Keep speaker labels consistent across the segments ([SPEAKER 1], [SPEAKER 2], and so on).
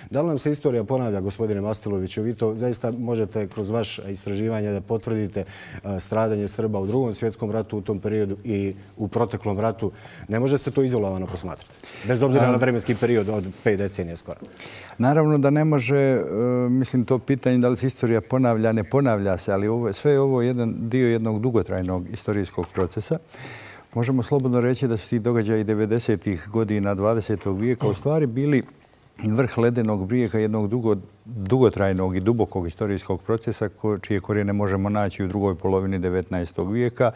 [SPEAKER 1] Da li nam se istorija ponavlja, gospodine Masteloviću? Vi to zaista možete kroz vaše istraživanje da potvrdite stradanje Srba u Drugom svjetskom ratu u tom periodu i u proteklom ratu. Ne može se to izolovano posmatrati, bez obzira na vremenski period od 5 decenija skoro.
[SPEAKER 2] Naravno da ne može, mislim, to pitanje da li se istorija ponavlja, ne ponavlja se, ali sve je ovo jedan dio jednog dugotrajnog istorijskog procesa. Možemo slobodno reći da su ti događaji 90-ih godina 20. vijeka u stvari bili vrh ledenog brijega jednog dugotrajnog i dubokog istorijskog procesa čije korijene možemo naći u drugoj polovini 19. vijeka.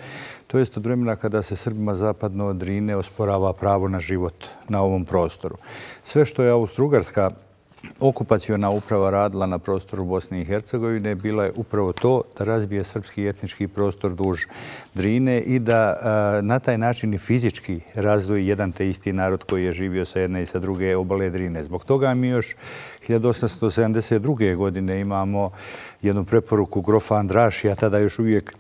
[SPEAKER 2] To jest od vremena kada se Srbima zapadno od Drine osporava pravo na život na ovom prostoru. Sve što je Austro-Ugarska okupaciona uprava radila na prostoru Bosne i Hercegovine bila je upravo to da razbije srpski etnički prostor duž Drine i da na taj način i fizički razdvoji jedan te isti narod koji je živio sa jedne i sa druge obale Drine. Zbog toga mi još 1872. godine imamo jednu preporuku grofa Andrašija, tada još uvijek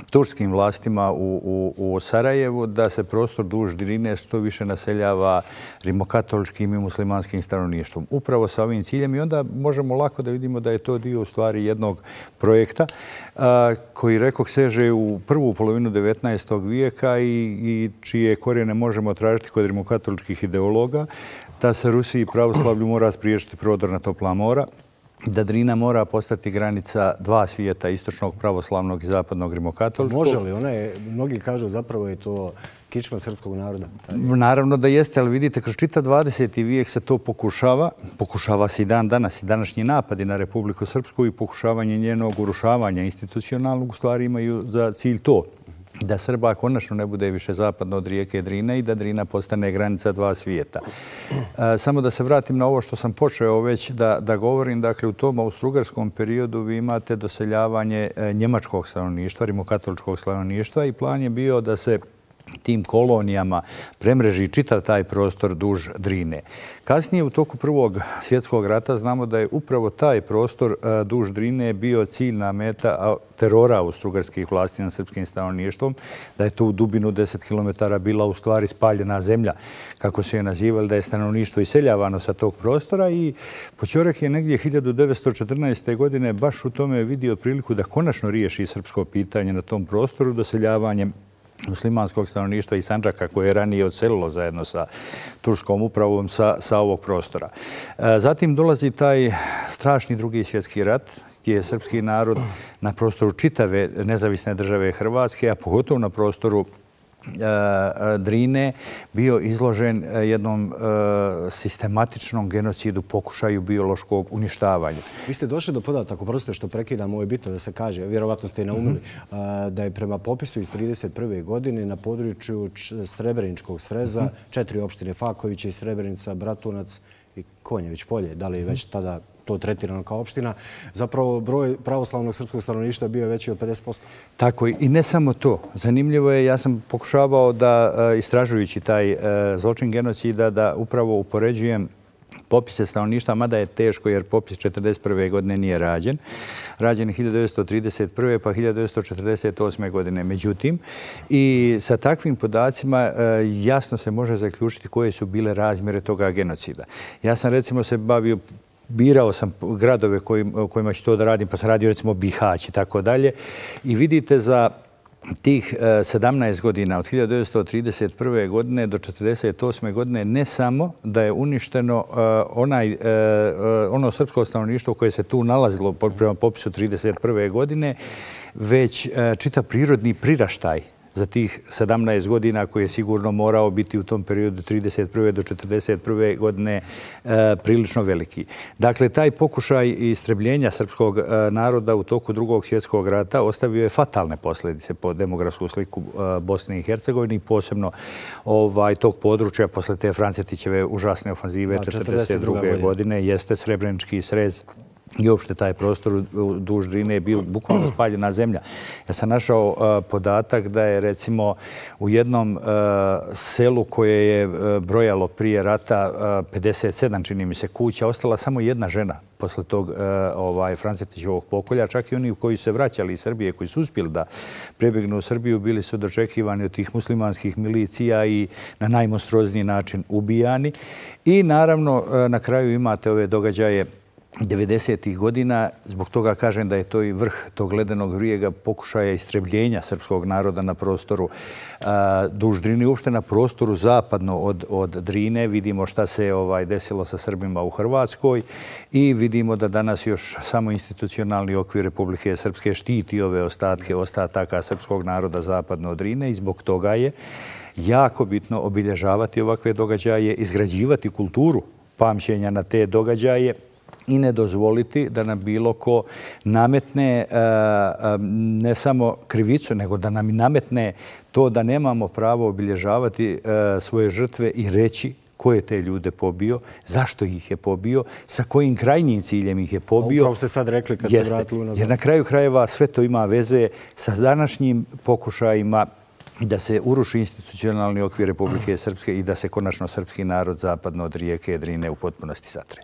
[SPEAKER 2] turskim vlastima u Sarajevu, da se prostor duž Drine što više naseljava rimokatoličkim i muslimanskim stanovništvom. Upravo sa ovim ciljem i onda možemo lako da vidimo da je to dio u stvari jednog projekta koji, rekoh, seže u prvu polovinu 19. vijeka i čije korijene možemo tražiti kod rimokatoličkih ideologa, da se Rusiji i pravoslavlju mora spriječiti prodor na topla mora, da Drina mora postati granica dva svijeta, istočnog pravoslavnog i zapadnog rimokatoličkog.
[SPEAKER 1] Može li? Mnogi kažu zapravo je to kičma srpskog naroda.
[SPEAKER 2] Naravno da jeste, ali vidite, kroz čitav 20. vijek se to pokušava. Pokušava se i dan danas. I današnji napadi na Republiku Srpsku i pokušavanje njenog urušavanja institucionalnog u stvari imaju za cilj to. Da Srba konačno ne bude više zapadno od rijeke Drine i da Drina postane granica dva svijeta. Samo da se vratim na ovo što sam počeo već da govorim. Dakle, u tom austro-ugarskom periodu vi imate doseljavanje njemačkog stanovništva, rimokatoličkog stanovništva i plan je bio da se tim kolonijama premreži čitav taj prostor duž Drine. Kasnije, u toku Prvog svjetskog rata, znamo da je upravo taj prostor duž Drine bio ciljna meta terora austro-ugarskih vlasti nad srpskim stanovništvom, da je to u dubinu 10 km bila u stvari spaljena zemlja, kako su je nazivali, da je stanovništvo iseljavano sa tog prostora i Poćorek je negdje 1914. godine baš u tome vidio priliku da konačno riješi srpsko pitanje na tom prostoru doseljavanjem muslimanskog stanovništva i Sandžaka koje je ranije odselilo zajedno sa turskom upravom sa ovog prostora. Zatim dolazi taj strašni Drugi svjetski rat gdje je srpski narod na prostoru čitave nezavisne države Hrvatske, a pogotovo na prostoru Drine bio izložen jednom sistematičnom genocidu, pokušaju biološkog uništavanja.
[SPEAKER 1] Vi ste došli do podataka, oprostite što prekidam, ovo je bitno da se kaže, vjerovatno ste i naumili, da je prema popisu iz 1931. godine na području Srebreničkog sreza 4 opštine, Fakovića i Srebrenica, Bratunac i Konjević polje, da li je već tada to tretirano kao opština, zapravo broj pravoslavnog srpskog stanovništva bio je veći od 50%.
[SPEAKER 2] Tako i ne samo to. Zanimljivo je, ja sam pokušavao da, istražujući taj zločin genocida, da upravo upoređujem popise stanovništva, mada je teško jer popis 1941. godine nije rađen. Rađen je 1931. pa 1948. godine. Međutim, i sa takvim podacima jasno se može zaključiti koje su bile razmjere toga genocida. Ja sam recimo se bavio, birao sam gradove kojima ću to da radim, pa sam radio recimo Bihać i tako dalje. I vidite za tih 17 godina, od 1931. godine do 1948. godine, ne samo da je uništeno ono srpsko stanovništvo koje se tu nalazilo prema popisu 1931. godine, već čitav prirodni priraštaj za tih 17 godina koji je sigurno morao biti u tom periodu 1931. do 1941. godine prilično veliki. Dakle, taj pokušaj istrebljenja srpskog naroda u toku Drugog svjetskog rata ostavio je fatalne posljedice po demografsku sliku Bosne i Hercegovine i posebno tog područja posle te Francetićeve užasne ofanzive 1942. godine jeste Srebrenički srez i uopšte taj prostor duž Drine je bio bukvalno spaljena zemlja. Ja sam našao podatak da je recimo u jednom selu koje je brojalo prije rata 57, čini mi se, kuća, ostala samo jedna žena posle tog Francetićevog pokolja. Čak i oni koji se vraćali iz Srbije, koji su uspjeli da prebjegnu u Srbiju, bili su dočekivani od tih muslimanskih milicija i na najmonstruozniji način ubijani. I naravno na kraju imate ove događaje 90. godina, zbog toga kažem da je to i vrh tog ledenog brijega pokušaja istrebljenja srpskog naroda na prostoru duž Drine, uopšte na prostoru zapadno od Drine. Vidimo šta se desilo sa Srbima u Hrvatskoj i vidimo da danas još samo institucionalni okvir Republike Srpske štiti ove ostataka srpskog naroda zapadno od Drine i zbog toga je jako bitno obilježavati ovakve događaje, izgrađivati kulturu pamćenja na te događaje i ne dozvoliti da nam bilo ko nametne ne samo krivicu, nego da nam nametne to da nemamo pravo obilježavati svoje žrtve i reći ko je te ljude pobio, zašto ih je pobio, sa kojim krajnjim ciljem ih je pobio.
[SPEAKER 1] Upravo ste sad rekli kad ste vratili unazad.
[SPEAKER 2] Jer na kraju krajeva sve to ima veze sa današnjim pokušajima da se uruši institucionalni okvir Republike Srpske i da se konačno srpski narod zapadno od rijeke Drine u potpunosti satre.